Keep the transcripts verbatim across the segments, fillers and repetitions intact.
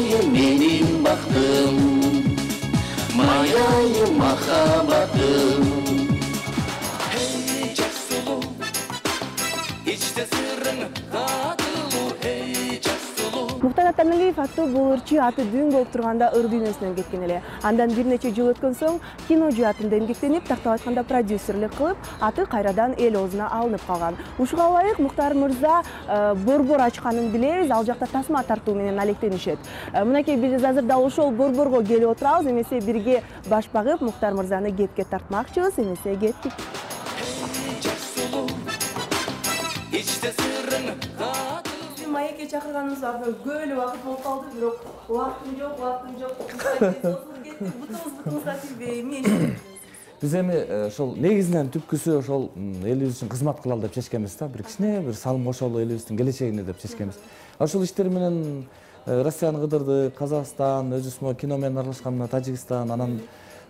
майайым менин бактым, майайым махаббатым. Hey жак сулуу, ичте сырың катылуу, hey жак сулуу. Мухтар Атаналиев аттуу бул ырчы аты дүң болуп турганда ыр дүйнөсүнөн кеткен эле. Андан бир нече жыл өткөн соң кино жаатында эмгектенип, тактап айтканда продюсерлик кылып, аты кайрадан эл оозуна алынып калган. Ушуга ылайык Мухтар мырза борбор ачканын билебиз, ал жакта тасма тартуу менен алектенишет. Мынакей биз азыр дал ошол борборго келип отурабыз, эмесе бирге баш багып Мухтар мырзаны кепке тартмакчыбыз, эмесе кеттик. Маекке чакырганыбызга көп убакыт болуп калды, бирок убактым жок, убактым жок. Бутубуз бутубузга тийбей, эмне иштейбиз? Биз эми ошол негизинен түпкүсү ошол элибиз үчүн кызмат кылалы деп чечкенбиз да, бир кичине бир салым кошолу элибиздин келечегине деп чечкенбиз. Ошол иштер менен Россияны кыдырдык, Казакстан, өзүбүз кино менен аралашкан мына Тажикстан, анан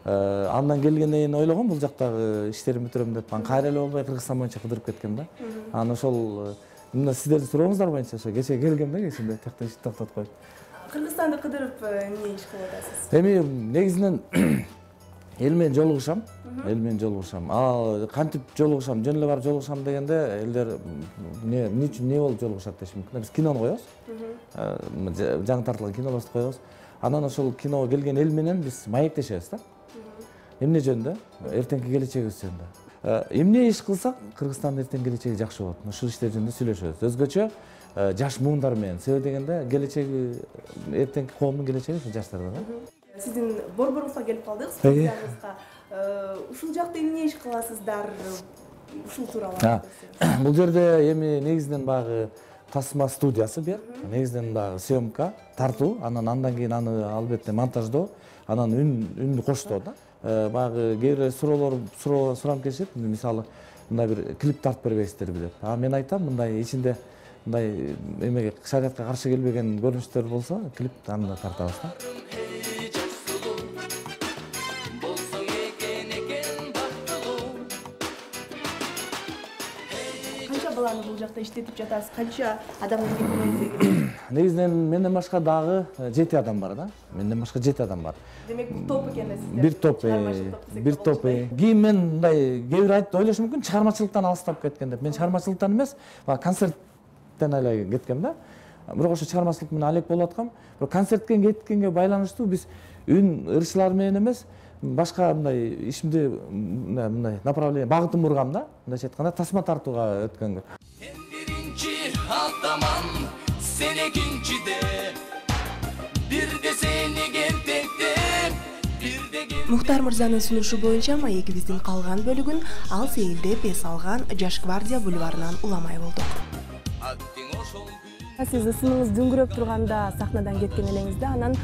андан келгенден кийин ойлогом бул жактагы иштеримди бүтүрөм деп, анан кайра эле болбой Кыргызстан боюнча кыдырып кеткем да. Анан ошол мына сиздердин сурооңуздар боюнча ошо кечээ келгем да, кечинде тиякта ишти токтотуп коюп. Кыргызстанды кыдырып эмне иш кылып атасыз? Эми негизинен эл менен жолугушам, эл менен жолугушам. А кантип жолугушам, жөн эле барып жолугушам дегенде элдер эмне эмне үчүн эмне болуп жолугушат деши мүмкүн. Биз кинону коебуз. Жаңы тартылган кинолорду коебуз. Анан ошол киного келген эл менен биз маектешебиз да. Эмне жөнүндө? Эртеңки келечегибиз жөнүндө. Эмне иш кылсак Кыргызстандын эртең келечеги жакшы болот. Ушул иштер жөнүндө сүйлөшөбүз. Өзгөчө жаш муундар менен. Себеби дегенде келечеги эртеңки коомдун келечеги ушул жаштарда да. Сиздин борборуңузга келип калдык, студиябызга. Ушул жакта эмне иш кыласыздар? Ушул тууралуу. Бул жерде эми негизинен багы тасма студиясы бер. Негизинен дагы съемка, тартуу, анан андан кийин аны албетте монтаждоо, анан үн үндү коштоо да. Багы кээ бир суроолор суранып келишет. Мисалы, мындай бир клип тартып бербейсиздерби деп. А мен айтам, мындай ичинде мындай эмеге шариатка каршы келбеген көрүнүштөр болсо, клип аны тартабыз да. Канча баланы бул жакта иштетип жатасыз? Канча адамды кетиресиз? Негизинен менден башка дагы жети адам бар да. Менден башка жети адам бар. Демек бул топ экен да сиздер? Бир топ, бир топ. Кийин мен мындай кээ бир айтып ойлошу мүмкүн, чыгармачылыктан алыстап кеткен деп. Мен чыгармачылыктан эмес, концерттен эле кеткем да. Бирок ошо чыгармачылык менен алек болуп аткам. Бирок концертке кеткенге байланыштуу биз үн ырчылар менен эмес, башка мындай ишимди мындай направление багытын бургам да. Мындайча айтканда тасма тартууга өткөнгө. Сен биринчи атаман, сен экинчиде, бирде сени кертектеп, бирде Мухтар мырзанын сунушу боюнча маегибиздин калган бөлүгүн ал сейилдеп эс алган Жаш гвардия бульварынан уламай болдук. Сиз ысыныңыз дүңгүрөп турганда сахнадан кеткен элеңизде, анан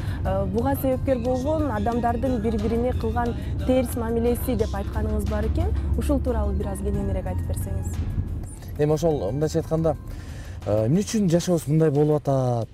буга себепкер болгон адамдардын бири-бирине кылган терс мамилеси деп айтканыңыз бар экен. Ушул тууралуу бир аз кененирээк айтып берсеңиз. Эми ошол мындайча айтканда, эмне үчүн жашообуз мындай болуп атат?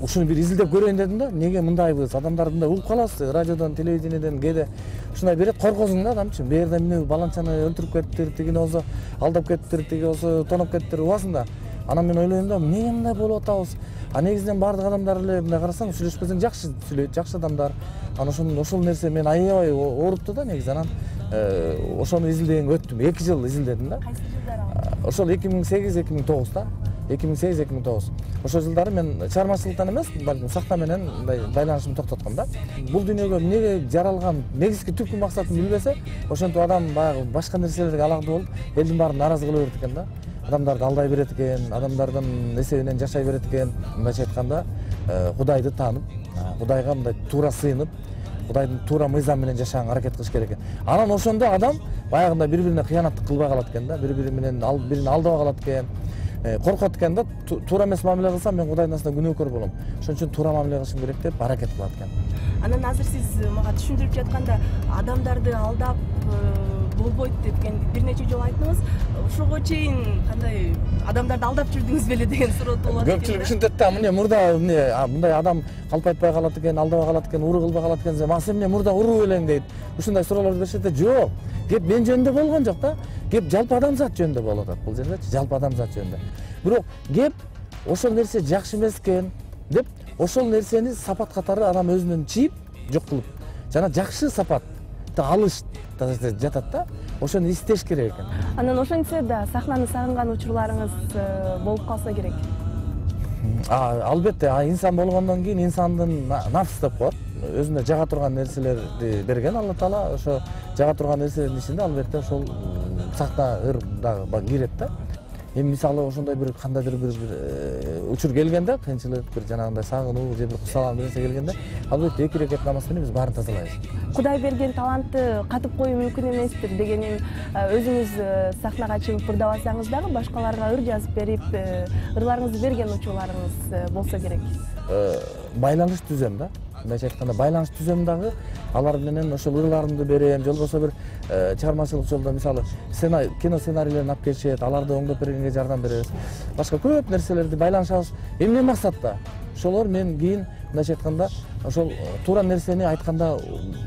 Ушуну бир изилдеп көрөйүн дедим да. Эмнеге мындайбыз? Адамдар мындай угуп каласыз, радиодон, телевидениеден кээде ушундай берет, коркосуң да адам үчүн. Бу жерде эмне баланчаны өлтүрүп кетиптир, тигини болсо алдап кетиптир, тиги болсо тоноп кетиптир, убасың да. Анан мен ойлойм да, эмнеге мындай болуп атабыз? А негизинен бардык адамдар эле мындай карасаң, сүйлөшпесең жакшы сүйлөйт, жакшы адамдар. Анан ошол ошол нерсе мен аябай оорупту да негизи. Анан ошону изилдегенге өттүм. эки жыл изилдедим да. Кайсы жылдары? Ошол эки миң сегиз эки миң тогуз да. эки миң сегиз эки миң тогуз. Ошол жылдары мен чыгармачылыктан эмес, балким сахна менен мындай байланышымды токтотком да. Бул дүйнөгө эмнеге жаралган, негизги түпкү максатын билбесе, ошентип адам баягы башка нерселерге алаңдуу болуп, элдин баарын нааразы кыла берет экен да. Адамдарды алдай берет экен, адамдардын эсебинен жашай берет экен. Мындайча айтканда, Кудайды таанып, Кудайга мындай туура сыйынып, Кудайдын туура мыйзам менен жашаганга аракет кылыш керек экен. Анан ошондо адам баягындай бири-бирине кыянаттык кылбай калат экен да, бири-бири менен бирин алдабай калат экен. Коркот экен да, туура эмес мамиле кылсам мен Кудайдын астында күнөөкөр болом. Ошон үчүн туура мамиле кылышым керек деп аракет кылат экен. Анан азыр сиз мага түшүндүрүп жатканда адамдарды алдап болбойт депкен бир нече жолу айттыңыз. Ошого чейин кандай адамдарды алдап жүрдүңүз беле деген суроо туулат экен. Көпчүлүк ушинтет да, эмне мурда эмне мындай адам калп айтпай калат экен, алдабай калат экен, уру кылбай калат экен. Мага сен эмне мурда уруу элең дейт. Ушундай суроолорду беришет да. Жок. Кеп мен жөнүндө болгон жок да. Кеп жалпы адамзат жөнүндө болуп атат бул жердечи, жалпы адамзат жөнүндө. Бирок кеп ошол нерсе жакшы эмес экен деп ошол нерсени сапат катары адам өзүнөн чийип жок кылып жана жакшы сапатты алыш жатат да, ошону издеш керек экен. Анан ошентсе да сахнаны сагынган учурларыңыз болуп калса керек. Албетте, инсан болгондон кийин инсандын нафс деп коет. Өзүнө жага турган нерселерди берген Алла Таала, ошо жага турган нерселердин ичинде албетте ошол сахна ыр дагы кирет да. Эми мисалы ошондой бир кандайдыр бир учур келгенде, кыйынчылык, бир жанагындай сагынуу же бир кусалан нерсе келгенде, албетте эки рекет намаз менен биз баарын тазалайбыз. Кудай берген талантты катып коюу мүмкүн эместир дегенин өзүңүз сахнага чыгып ырдабасаңыз дагы башкаларга ыр жазып берип, ырларыңызды берген учурларыңыз болсо керек. Байланыш түзөм да. Мындайча айтканда байланыш түзөм дагы, алар менен ошол ырларымды берем, же болбосо бир чыгармачылык жолдо мисалы кино сценарийлерин алып келишет, аларды оңдоп бергенге жардам беребиз. Башка көп нерселерди байланышабыз. Эмне максатта? Ошолор мен кийин мындайча айтканда ошол туура нерсени айтканда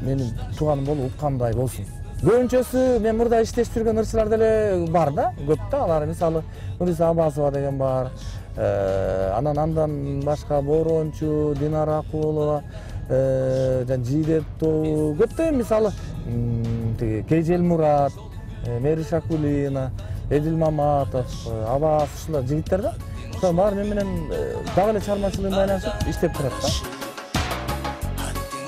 менин тууганым болуп уккандай болсун. Көбүнчөсү мен мурда иштешип жүргөн ырчылар деле бар да, көп да. Алар мисалы Нуриса Аббасова деген бар. Анан андан башка Борончу, Динара Акулова, жана Жидет тобу көптөн мисалы тиги Кежел Мурат, Мери Шакулина, Эдил Маматов, Абас ушундай жигиттер да. Ошол баары мен менен дагы эле чыгармачылык байланышып иштеп турат да.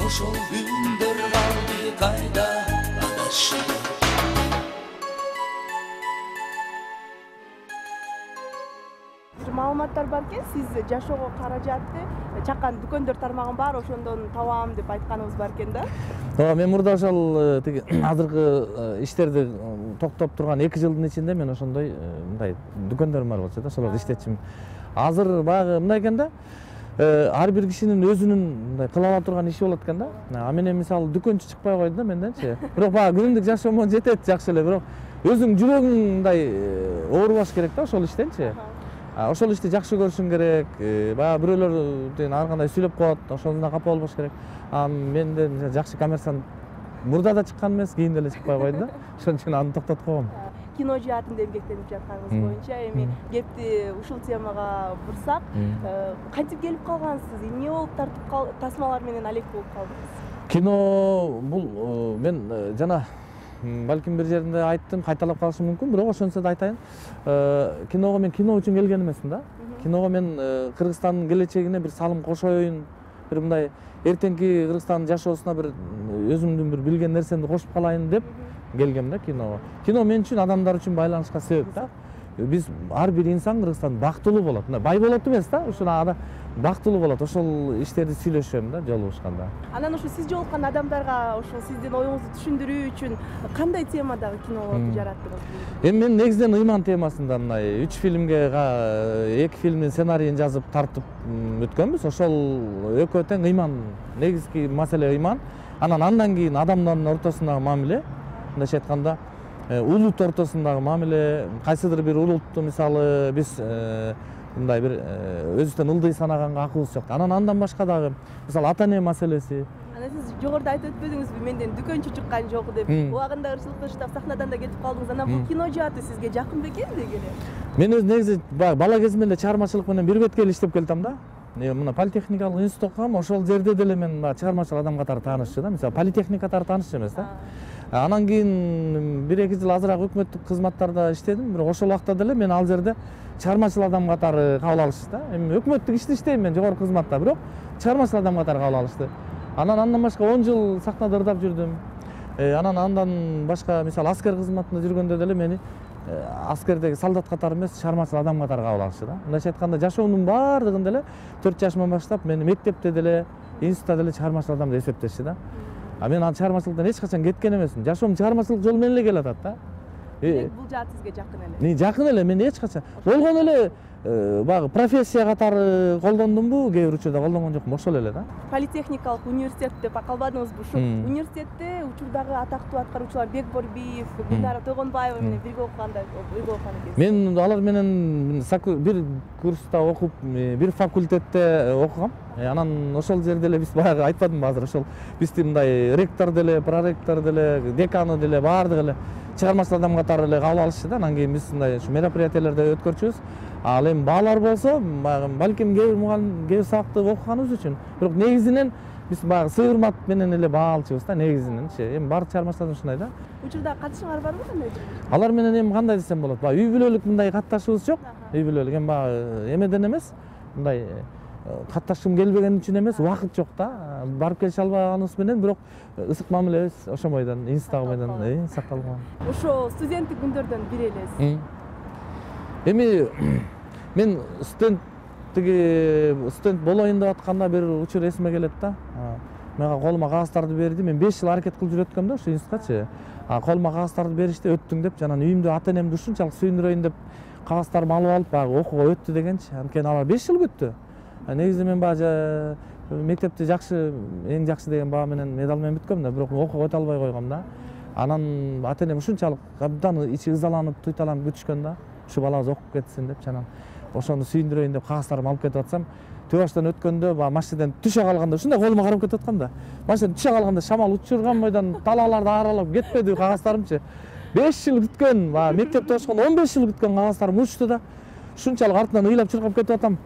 Ошол күндөр калды кайда адашып. Маалыматтар бар экен, сиз жашоого каражатты чаккан дүкөндөр тармагын бар, ошондон табам деп айтканыңыз бар экен да. Ооба, мен мурда ошол тиги азыркы иштерди токтоп турган эки жылдын ичинде мен ошондой мындай дүкөндөрүм бар болчу да, ошолордо иштечимин. Азыр баягы мындай экен да, ар бир кишинин өзүнүн мындай кыла ала турган иши болот экен да. А менен мисалы дүкөнчү чыкпай койду да менденчи. Бирок баягы күнүмдүк жашоомон жетет жакшы эле, бирок өзүң жүрөгүң мындай оорубаш керек да ошол иштенчи. Ошол ишти жакшы көрүшүң керек. Баягы бирөөлөр ар кандай сүйлөп коет, ошондон капа болбош керек. А менде жакшы коммерсант мурда да чыккан эмес, кийин деле чыкпай койду да. Ошон үчүн аны токтотуп койгом. Кино жаатында эмгектенип жатканыңыз боюнча эми кепти ушул темага бурсак, кантип келип калгансыз? Эмне болуп тартып тасмалар менен алек болуп калдыңыз? Кино бул мен жана балким бир жеринде айттым, кайталап калышым мүмкүн, бирок ошонсо да айтайын. Киного мен кино үчүн келген эмесмин да. Киного мен Кыргызстандын келечегине бир салым кошоюн, бир мындай эртеңки Кыргызстандын жашоосуна бир өзүмдүн бир билген нерсемди кошуп калайын деп келгем да киного. Кино мен үчүн адамдар үчүн байланышка себеп да. Биз ар бир инсан Кыргызстанда бактылуу болот. Мындай бай болот эмес да, ушул ада бактылуу болот. Ошол иштерди сүйлөшөм да жолугушканда. Анан ошо сиз жолуккан адамдарга ошол сиздин оюңузду түшүндүрүү үчүн кандай темадагы кинолорду жараттыңыз? Эми мен негизинен ыйман темасында мындай үч фильмге эки фильмдин сценарийин жазып тартып өткөнбүз. Ошол экөө тең ыйман, негизги маселе ыйман. Анан андан кийин адамдардын ортосундагы мамиле, мындайча айтканда улут ортосундагы мамиле, кайсыдыр бир улутту мисалы биз мындай бир өзүбүздөн ылдый санаганга акыбыз жок. Анан андан башка дагы мисалы ата-эне маселеси. Анан сиз жогоруда айтып өтпөдүңүзбү, менден дүкөнчү чыккан жок деп. Убагында ырчылыкты ыштап сахнадан да кетип калдыңыз. Анан бул кино жааты сизге жакын бекен деги эле? Мен өз негизи бала кезимден эле чыгармачылык менен бир бетке эле иштеп келдим да. Мына политехникалык институт окугам, ошол жерде деле мен чыгармачыл адам катары таанышчу да. Мисалы политехник катары таанышчу эмес да. Анан кийин бир эки жыл азыраак өкмөттүк кызматтарда иштедим, бирок ошол убакта деле мен ал жерде чыгармачыл адам катары кабыл алышты да. Эми өкмөттүк ишти иштейм мен жогорку кызматта, бирок чыгармачыл адам катары кабыл алышты. Анан андан башка он жыл сахнада ырдап жүрдүм. Анан андан башка мисалы аскер кызматында жүргөндө деле мени аскердеги солдат катары эмес, чыгармачыл адам катары кабыл алышты да. Мындайча айтканда жашоомдун баардыгын деле төрт жашыман баштап мени мектепте деле, институтта деле чыгармачыл адам деп эсептешти да. А мен ал чыгармачылыктан эч качан кеткен эмесмин. Жашоом чыгармачылык жол менен эле келатат да. Бул жаат сизге жакын эле. Не жакын эле, мен эч качан болгон эле баягы профессия катары колдондумбу, кээ бир учурда колдонгон жокмун, ошол эле да. Политехникалык университет деп калбадыңызбы? Ушул университетте учурдагы атактуу аткаруучулар Бек Борбиев, Гүлнара Тойгонбаева менен бирге окуганда бирге окуган экенсиз. Мен алар менен бир курста окуп, бир факультетте окугам. Анан ошол жерде эле биз баягы айтпадымбы азыр, ошол бизди мындай ректор деле, проректор деле, деканы деле баардыгы эле чыгармачыл адам катары эле кабыл алышты да. Анан кийин биз мындай ушу мероприятиялерде өткөрчүбүз. Ал эми баалар болсо балким кээ бир мугалим кээ бир сабакты окуганыбыз үчүн, бирок негизинен биз баягы сыйырмат менен эле баа алчубыз да негизиненчи. Эми баардык чыгармачыларда ушундай да. Учурда катышыңар барбы кандай? Алар менен эми кандай десем болот? Баягы үй бүлөлүк мындай катташыбыз жок. Үй бүлөлүк эми баягы эмеден эмес, мындай катташкым келбегени үчүн эмес, убакыт жок да. Барып келише албаганыбыз менен, бирок ысык мамилебиз ошо бойдон, инстагы бойдон сакталган. Ошо студенттик күндөрдөн бири элесиз. Эми мен студент тиги студент болоюн деп атканда бир учур эсиме келет да. Мага колума кагаздарды берди. Мен беш жыл аракет кылып жүрөткөм да ошо институтчы. А колума кагаздарды беришти, өттүң деп, жана үйүмдө ата энемди ушунчалык сүйүндүрөйүн деп кагаздарды алып алып, баягы окууга өттү дегенчи. Анткени алар беш жыл күттү. Негизи мен баягы мектепти жакшы, эң жакшы деген баа менен медал менен бүткөм да, бирок окууга өтө албай койгом да. Анан ата энем ушунчалык абдан ичи ызаланып, туйталанып күтүшкөн да. Ушу балабыз окуп кетсин деп, жана ошону сүйүндүрөйүн деп кагаздарды алып кетип атсам, төбө баштан өткөндө баягы машинеден түшө калганда ушундай колума карап кетип аткам да. Машинеден түшө калганда шамал учурган бойдон талааларды аралап кетпеди кагаздарымчы. беш жыл күткөн, баягы мектепте окушканда он беш жыл күткөн кагаздарым учту да. Ушунчалык артынан ыйлап чуркап кетип атам.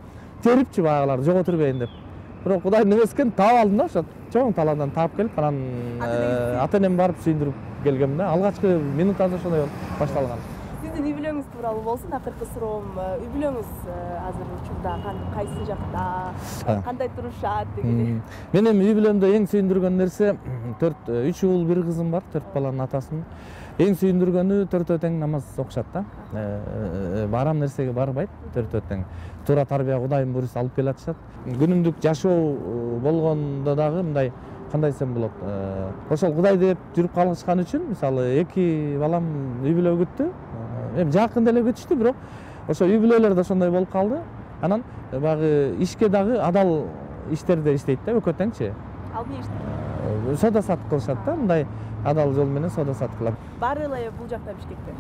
Терипчи баягыларды жоготурбейин деп. Бирок Кудайдын эмеси экен, таап алдым да, ошо чоң талаадан таап келип, анан ата энем барып сүйүндүрүп келгем да. Алгачкы минуттарда ошондой болуп башталган. Сиздин үй бүлөңүз тууралуу болсун, акыркы суроом. Үй бүлөңүз азыр учурда кайсы жакта, кандай турушат дегендей? Мен эми үй бүлөмдө эң сүйүндүргөн нерсе төрт үч уул бир кызым бар, төрт баланын атасымын. Эң сүйүндүргөнү төртөө тең намаз окушат да. Барам нерсеге барбайт, төртөө тең. Туура тарбия Кудайдын буйруусу алып келе атышат. Күнүмдүк жашоо болгондо дагы мындай кандай десем болот. Ошол Кудай деп жүрүп калышкан үчүн, мисалы, эки балам үй бүлө күттү. Эми жакын деле күтүштү, бирок ошо үй бүлөлөр да ошондой болуп калды. Анан баягы ишке дагы адал иштерде иштейт да, экөө теңчи. Ал эмне иштейт? Сода сатып кылышат да, мындай адал жол менен сода сатып кылат. Баары эле бул жакта Бишкекте?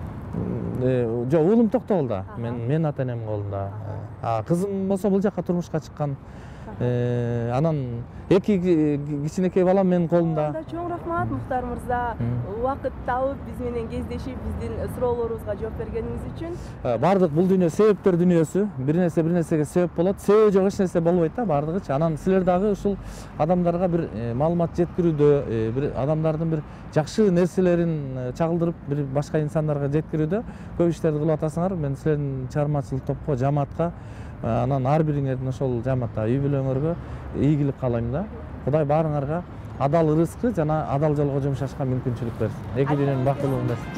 Жок, уулум Токтогулда. Мен мен ата энемдин колунда. А кызым болсо бул жакка турмушка чыккан. Анан эки кичинекей балам менин колумда. Чоң рахмат Мухтар мырза, убакыт табып биз менен кездешип, биздин суроолорубузга жооп бергениңиз үчүн. Бардык бул дүйнө себептер дүйнөсү. Бир нерсе бир нерсеге себеп болот. Себеби жок эч нерсе болбойт да, бардыгычы. Анан силер дагы ушул адамдарга бир маалымат жеткирүүдө, бир адамдардын бир жакшы нерселерин чагылдырып, бир башка инсандарга жеткирүүдө көп иштерди кылып атасыңар. Мен силердин чыгармачылык топко, жамаатка, анан ар бириңердин ошол жамаатта үй бүлөңөргө ийгилик каалайм да. Кудай баарыңарга адал ырыскы жана адал жолго жумшашка мүмкүнчүлүк берсин. Эки дүйнөнүн бактылуулун берсин.